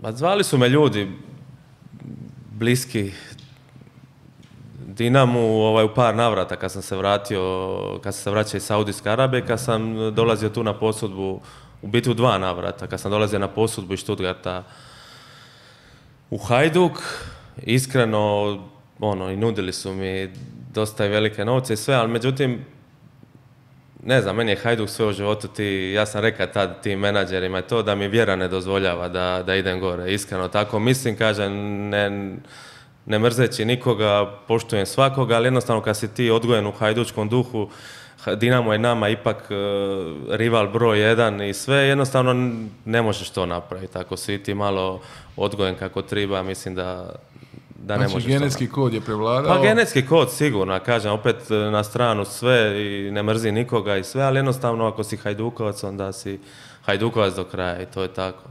Ma zvali su me ljudi bliski Dinamu u par navrata kad sam se vratio, kad sam se vraćao iz Saudijske Arabije, kad sam dolazio tu na posudbu, u biti u 2 navrata, kad sam dolazio na posudbu iz Stuttgarta u Hajduk, iskreno, i nudili su mi dosta i velike novce i sve, ali međutim, ne znam, meni je Hajduk sve u životu ja sam rekao tad tim menadžerima to da mi vjera ne dozvoljava da idem gore, iskreno tako mislim, kažem, ne mrzeći nikoga, poštujem svakoga, ali jednostavno kad si ti odgojen u hajdučkom duhu, Dinamo je nama ipak rival broj 1 i sve, jednostavno ne možeš to napraviti. Ako si ti malo odgojen kako treba, mislim da ne možeš to napraviti. Znači genetski kod je prevladao? Pa genetski kod sigurno, kažem, opet na stranu sve i ne mrzi nikoga i sve, ali jednostavno ako si hajdukovac, onda si hajdukovac do kraja i to je tako.